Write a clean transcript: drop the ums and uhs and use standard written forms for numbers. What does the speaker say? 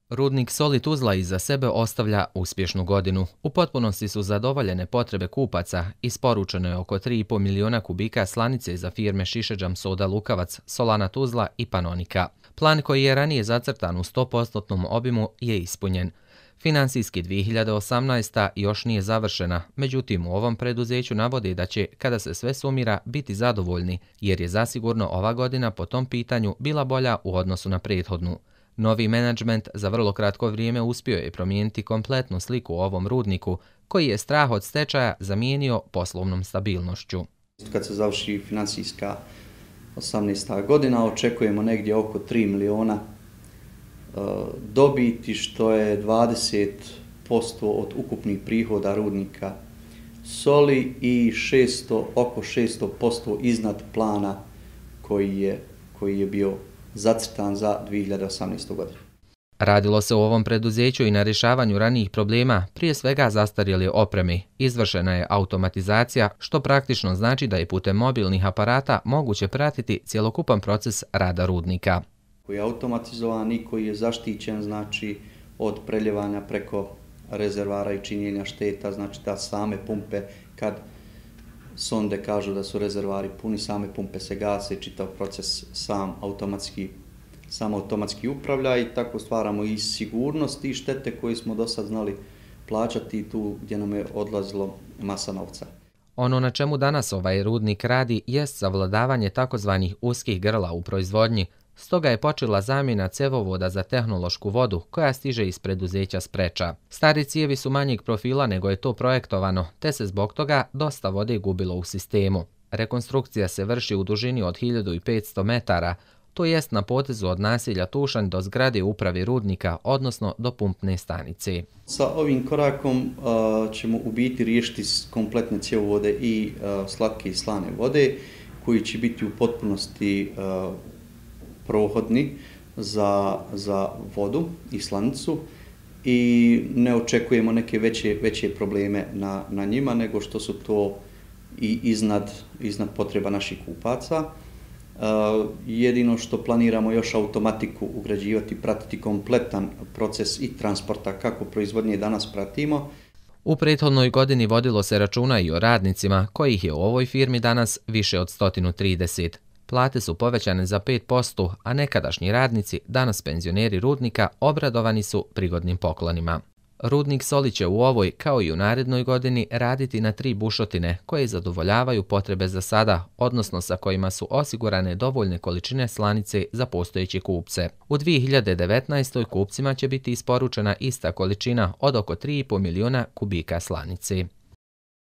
Rudnik soli Tuzla iza sebe ostavlja uspješnu godinu. U potpunosti su zadovoljene potrebe kupaca, isporučeno je oko 3,5 miliona kubika slanice za firme Šišeđam Soda Lukavac, Solana Tuzla i Panonika. Plan koji je ranije zacrtan u 100% obimu je ispunjen. Finansijski 2018. još nije završena, međutim u ovom preduzeću navode da će, kada se sve sumira, biti zadovoljni, jer je zasigurno ova godina po tom pitanju bila bolja u odnosu na prethodnu. Novi menadžment za vrlo kratko vrijeme uspio je promijeniti kompletnu sliku o ovom rudniku, koji je strah od stečaja zamijenio poslovnom stabilnošću. Kad se završi financijska 18. godina, očekujemo negdje oko 3 miliona dobiti, što je 20% od ukupnih prihoda rudnika soli i oko 600% iznad plana koji je bio zacrtan za 2018. godinu. Radilo se u ovom preduzeću i na rješavanju ranijih problema, prije svega zastarjele opreme. Izvršena je automatizacija, što praktično znači da je putem mobilnih aparata moguće pratiti cjelokupan proces rada rudnika. Koji je automatizovan i koji je zaštićen, znači od preljevanja preko rezervara i činjenja šteta, znači da same pumpe, kad sonde kažu da su rezervari puni, same pumpe se gase i čitav proces sam automatski upravlja i tako stvaramo i sigurnost i štete koje smo do sad znali plaćati tu gdje nam je odlazilo masa novca. Ono na čemu danas ovaj rudnik radi jest savladavanje takozvanih uskih grla u proizvodnji, stoga je počela zamjena cevovoda za tehnološku vodu koja stiže iz preduzeća Spreča. Stari cijevi su manjeg profila nego je to projektovano, te se zbog toga dosta vode gubilo u sistemu. Rekonstrukcija se vrši u dužini od 1500 metara, to jest na potezu od naselja Tušanj do zgrade uprave rudnika, odnosno do pumpne stanice. Sa ovim korakom ćemo u biti riješiti kompletne cjevovode i slatke i slane vode, koji će biti u potpunosti prohodni za vodu i slanicu i ne očekujemo neke veće probleme na njima, nego što su to i iznad potreba naših kupaca. Jedino što planiramo još automatiku ugrađivati, pratiti kompletan proces i transporta kako proizvodnje danas pratimo. U prethodnoj godini vodilo se računa i o radnicima, kojih je u ovoj firmi danas više od 130. Plate su povećane za 5%, a nekadašnji radnici, danas penzioneri rudnika, obradovani su prigodnim poklonima. Rudnik soli će u ovoj, kao i u narednoj godini, raditi na 3 bušotine koje zadovoljavaju potrebe za sada, odnosno sa kojima su osigurane dovoljne količine slanice za postojeće kupce. U 2019. kupcima će biti isporučena ista količina od oko 3,5 miliona kubika slanice.